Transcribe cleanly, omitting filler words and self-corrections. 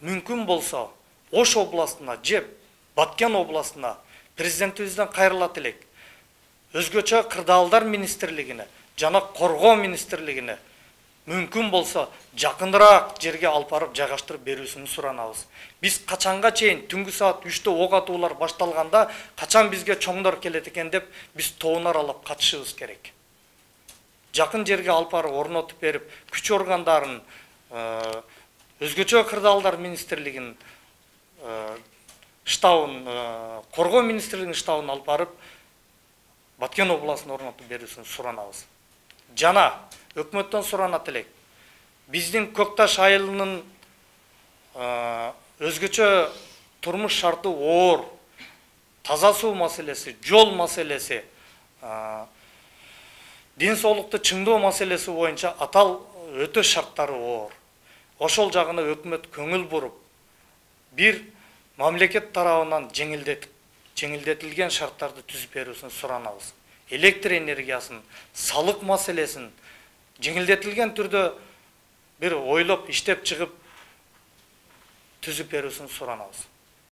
мүмкүн болсо Ош областына же Баткен областына президентибизден кайрылат элек. Өзгөчө кырдаалдар министрлигине жана коргоо министрлигине мүмкүн болсо жакыныраак жерге алып барып жайгаштырып берүүсүн суранабыз. Биз качанга чейин түнгү саат 3-тө ок атуулар башталганда качан бизге чоңдор келет экен деп биз тоон аралап катышыбыз керек. Жакын жерге алып барып орнотуп берип, күч органдарын, өзгөчө кырдаалдар министрлигинин штабын, коргоо министрлигинин штабын алып барып Баткен областына орнотуп берүүсүн суранабыз. Жана өкмөттөн суранат элек. Биздин Көкташ айылынын өзгөчө турмуш шарты оор, таза суу маселеси, жол маселеси, ден соолукту чыңдоо маселеси боюнча атал өтө шарттары оор. Ошол жагына өкмөт көңүл буруп, бир мамлекет тарабынан жеңилдетилген шарттарды түзүп берүүсүн суранабыз. Электр энергиясын, салык маселесин жеңилдетилген түрдө бир ойлоп, иштеп чыгып түзүп берүүсүн суранабыз.